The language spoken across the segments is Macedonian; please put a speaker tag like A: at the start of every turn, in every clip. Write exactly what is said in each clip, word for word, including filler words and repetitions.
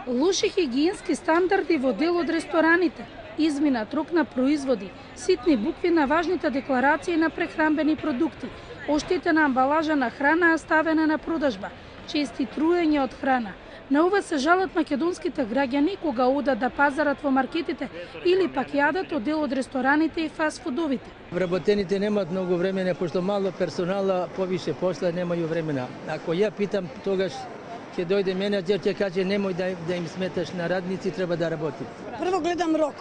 A: Лоши хигиенски стандарди во дел од рестораните, изминат рок на производи, ситни букви на важните декларации на прехранбени продукти, оштетена амбалажа на храна ставена на продажба, чести труење од храна. На ова се жалат македонските граѓани кога одат да пазарат во маркетите или пак јадат од дел од рестораните и фастфудовите.
B: Вработените немаат многу времена, пошто мало персонала, повише посла, немају времена. Ако ја питам, тогаш ќе дојде менеджер, ќе каже немој да, да им сметаш на радници, треба да работи.
C: Прво гледам рок.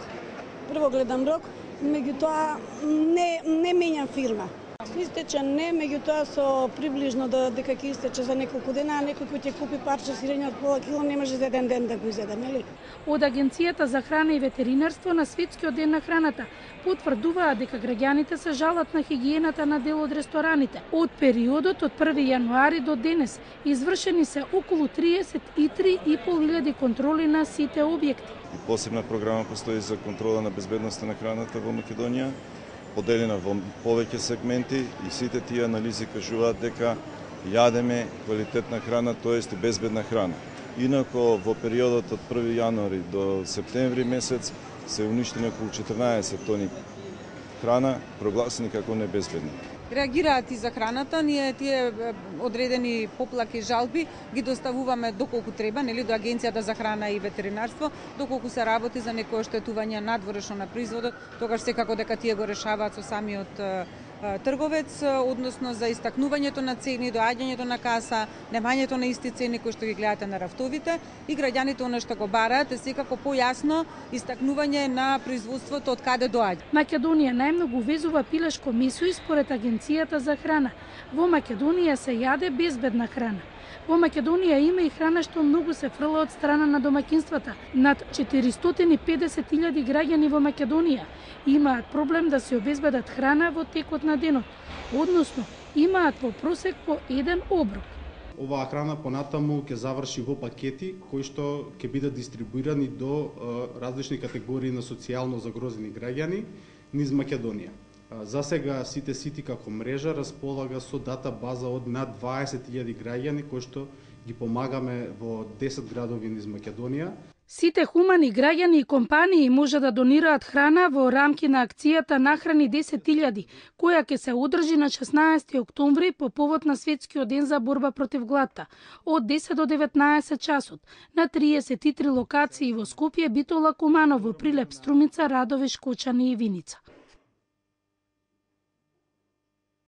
C: Прво гледам рок, меѓутоа не не менјам фирма. Истече не, меѓутоа со приближно да дека ќе истече за неколку дена, а некој кој ќе купи парче сирење од пола кило не може за еден ден да го изеде, нели?
A: Од Агенцијата за храна и ветеринарство на Светскиот ден на храната потврдуваат дека граѓаните се жалат на хигиената на дел од рестораните. Од периодот од први јануари до денес извршени се околу триесет и три и пол илјади контроли на сите објекти.
D: Посебна програма постои за контрола на безбедноста на храната во Македонија, поделена во повеќе сегменти и сите тие анализи кажуваат дека јадеме квалитетна храна, тоест безбедна храна. Инако во периодот од први јануари до септември месец се уништени околу четрнаесет тони храна, прогласени како небезбедни.
E: Реагираат и за храната, ние тие одредени поплаки, жалби ги доставуваме доколку треба, нели, до Агенцијата за храна и ветеринарство, доколку се работи за некој оштетување надворешно на производот, тогаш секако дека тие го решаваат со самиот трговец, односно за истакнувањето на цени, доаѓањето на каса, немањето на исти цени кои што ги гледате на рафтовите и граѓаните она што го бараат е секако појасно истакнување на производството од каде доаѓа.
A: Македонија најмногу увезува пилешко месо и според Агенцијата за храна. Во Македонија се јаде безбедна храна. Во Македонија има и храна што многу се фрла од страна на домаќинствата. Над четиристотини и педесет илјади граѓани во Македонија имаат проблем да се обезбедат храна во текот на денот, односно имаат во просек по еден оброк.
F: Оваа храна понатаму ќе заврши во пакети кои што ќе бидат дистрибуирани до различни категории на социјално загрозени граѓани низ Македонија. За сега сите сити како мрежа располага со дата база од над дваесет илјади граѓани кои што ги помагаме во десет градови низ Македонија.
A: Сите хумани граѓани и компании може да донираат храна во рамки на акцијата Нахрани десет илјади, која ќе се одржи на шеснаесети октомври по повод на Светскиот ден за борба против гладта, од десет до деветнаесет часот, на триесет и три локации во Скопје, Битола, Куманово, Прилеп, Струмица, Радовиш, Кочани и Виница.